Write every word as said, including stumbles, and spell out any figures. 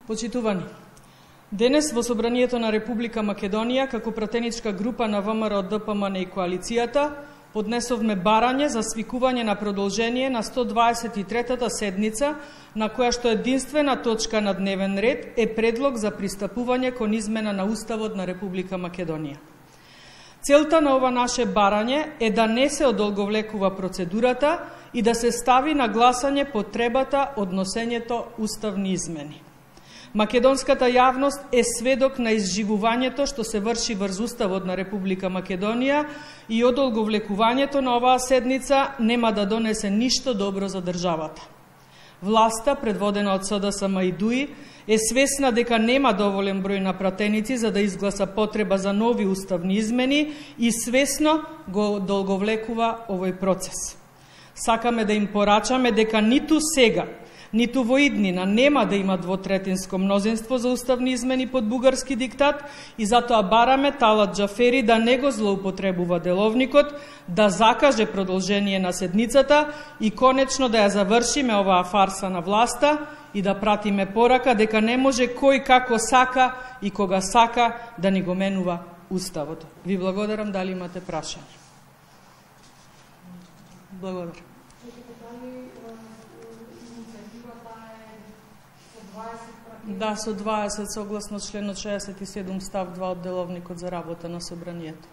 Почитувани, денес во Собранието на Република Македонија, како пратеничка група на ВМРО, ДПМН и коалицијата, поднесовме барање за свикување на продолжение на сто дваесет и третата седница, на која што единствена точка на дневен ред е предлог за пристапување кон измена на Уставот на Република Македонија. Целта на ова наше барање е да не се одолговлекува процедурата и да се стави на гласање потребата од носењето уставни измени. Македонската јавност е сведок на изживувањето што се врши врз Уставот на Република Македонија и одолговлекувањето на оваа седница нема да донесе ништо добро за државата. Власта, предводена од СДСМ и ДУИ, е свесна дека нема доволен број на пратеници за да изгласа потреба за нови уставни измени и свесно го одолговлекува овој процес. Сакаме да им порачаме дека ниту сега, ниту во иднина нема да има двотретинско мнозинство за уставни измени под бугарски диктат и затоа бараме Талат Џафери да не го злоупотребува деловникот, да закаже продолжение на седницата и конечно да ја завршиме оваа фарса на власта и да пратиме порака дека не може кој како сака и кога сака да ни го менува Уставот. Ви благодарам, дали имате прашање? Благодарам. Да, со дваесет согласно членот шеесет и седум став два од деловникот за работа на Собранието.